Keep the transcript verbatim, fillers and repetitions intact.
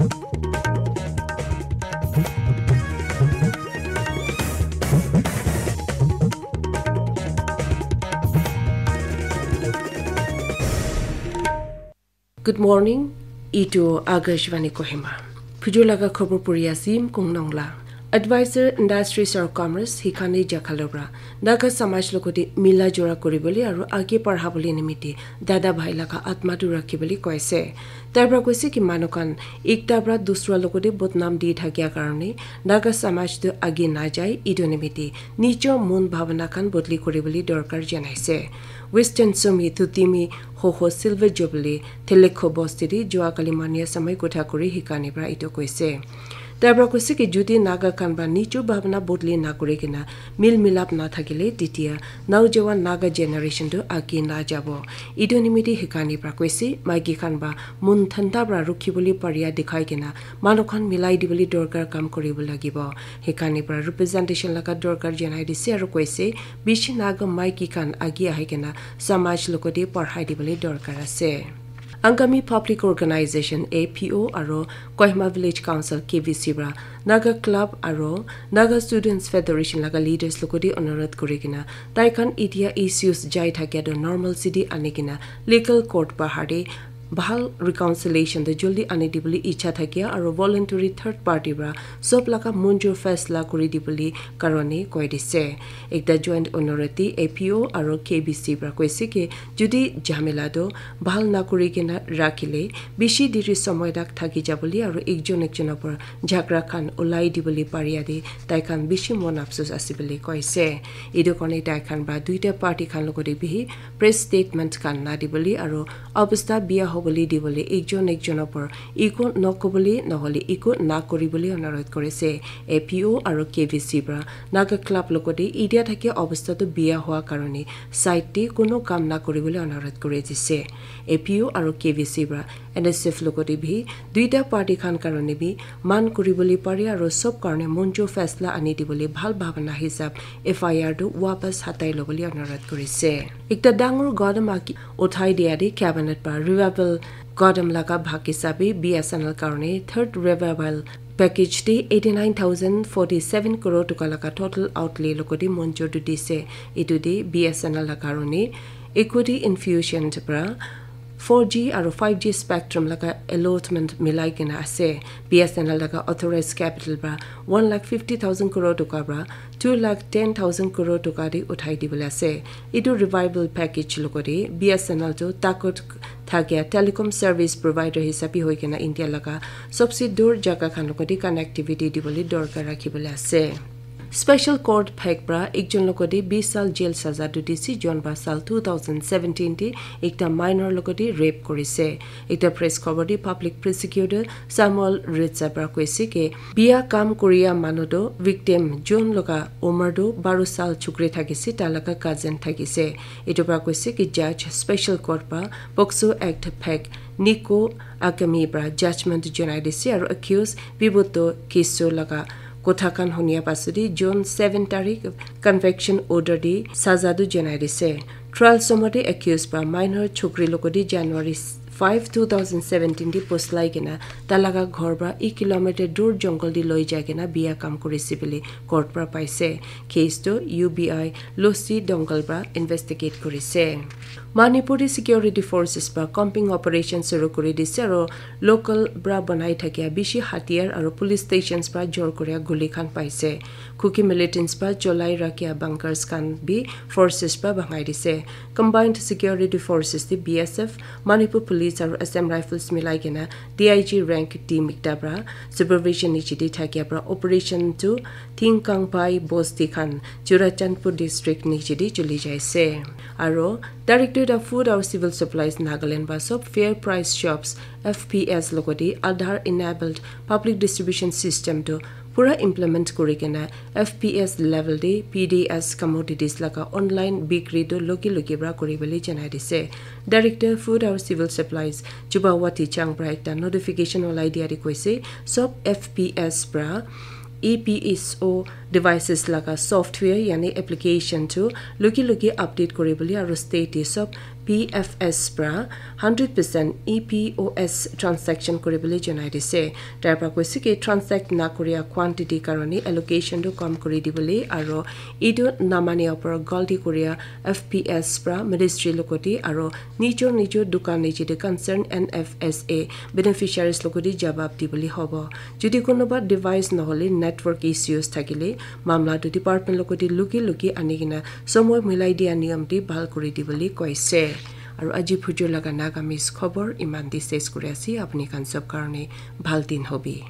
Good morning. Itu Akashvani Kohima. Phujur laga khobor puri asim Kong Nongla. Advisor Industries or Commerce Hikani Jakhalobra Naga Samaj logote mila jora kuribole aru age parhabole nimite dada bhai laga atma tu rakhibole koise. Tar pra koise ki manu khan ekta pra dusra logote bodnam di thakia karone Naga Samaj tu age na jai, itu nimite nijo mon bhabana khan bodli kuribole dorkar janaise. Western Sumi Thutimi Hoho Silver Jubilee Thelekho Bosti di Joa Kali Mania Samai Kotha Kuri Hikani pra itu koise. Tar pra koise ki jodi Naga khan ba nijo bhabana bodli na kuri kena mil milap na thakile titia naujawan Naga generation tu age na jabo. Itu nimite Hikani pra koise maiki khan ba mon thanda pra rukhi bole paria dikhai kena manu khan milai dibole dorkar kam kuribo lagibo. Hikani pra representation laga dorkar janai dise aru koise bishi Naga maiki khan age ahi kena samaj logote parhai dibole dorkar ase. Angami Public Organization A P O aro Kohima Village Council K V C pra Naga Club aro Naga Students Federation laga leaders logote onurodh kuri kena tai khan itia issues jai thakia tu normal city ani kena legal court bahar te bhal reconciliation tu joldi ani dibole icha thakia aro voluntary third party pra sob laga monjur faisla kuri dibole karone koi dise. Ekta joint onurodh te A P O aro K V C pra koise ki jodi jhamela tu bhal na kuri kena rakhile bishi diri somoy tak thaki jabole aru ekjon ekjon opor jhagra khan ulai dibole paria de tai khan bishi mon afsus ase bole koise. Itu karone tai khan pra duita party khan logote bihi press statement khan na dibole aru obostha bia hobole dibole ekjon ekjon opor ego nokobole nohole ego na kuribole onurodh korise. A P O aru K V C pra Naga Club logote itia thakia obostha tu bia hoa karone side te kono kam na kuribole onurodh kuri dise. A P O aru K V C pra N S F logote bi duita party khan karone bi man kuribole pare aru sob karone monjur faisla ani dibole bhal bhabana hisab F I R tu wapas hatai lobole onurodh korise. Ekta dangor gadam aki uthai dia de cabinet pra revival gadam laga bhag hisabe B S N L karone third revival package te eighty nine thousand forty seven crore toka laga total outlay logote monjur tu dise. Itu de B S N L la karone equity infusion pra four G aru five G spectrum laga allotment milai kena ase. B S N L laga authorized capital pra one lakh fifty thousand crore toka pra two lakh ten thousand crore toka de uthai dibole ase. Itu revival package logote B S N L tu takot thakia telecom service provider hisabe hoi kena India laga sobse dur jaga khan logote connectivity dibole dorkar rakhibole ase. Special Court phek pra ekjon logote bish sal jail saza tu dise, jon ba sal two thousand seventeen te ekta minor logote rape korise. Ekta press khobor te public prosecutor Samuel Ritza pra koise ke bia kam koria manu tu victim jon loga umar tu baro sal chukri thakise, ta laga cousin thakise. Itu pra koise ke judge Special Court pra POCSO Act phek Nico Akami pra judgment janai dise aru accused Biboto Kiso laga kotha khan hunia pasudi June seven tarik conviction order di saza tu janai dise. Trial somode accused pra minor chokri logote January five, two thousand seventeen di poslai kena talaga ghor pra ek kilometer dur jungle di loi jai kena bia kam kurise bole court pra paise. Case tu U B I Losi Dongal pra investigate kurise. Manipuri Security Forces pra combing operation suru kuri dise aro local pra banai thakia bishi hatiyar aro police stations pra jor kuria guli khan paise. Kuki militants pra cholai rakhia bunkers khan bi forces pra bangai dise. Combined Security Forces te B S F, Manipur Police aro Assam Rifles milai kena D I G rank team ekta pra supervision niche te thakia pra operation tu Thingkangpai bosti khan Churachandpur district niche te chuli jaise. Aro Directorate of Food aro Civil Supplies Nagaland ba sob fair price shops F P S logote Aadhaar enabled public distribution system tu pura implement kuri kena F P S level te P D S commodities laga online bikri tu loki loki pra kuri bole janai dise. Director Food aro Civil Supplies Chubawati Chang pra ekta notification olai dia te koise sob F P S pra E P S O devices laga software yani application tu loki loki update kuri bole aro state te sob P F S pra hundred percent E P O S transaction kuribole janai dise. Tar pra koise ki transact na kuria quantity karone allocation tu kam kuri dibole aro etu namania opor galti kuria F P S pra ministry logoti aro nijor nijor dukan niche te concern N F S A beneficiaries logoti jawab dibole hobo. Jodi konoba device nohole network issues thakile mamla tu department logoti luki luki ani kena somoy milai dia niyam te bhal kuri dibole koise. Aru aji phujur laga Nagamese khobor iman te ses kuri ase. Apni khan sob karone bhal din hobi.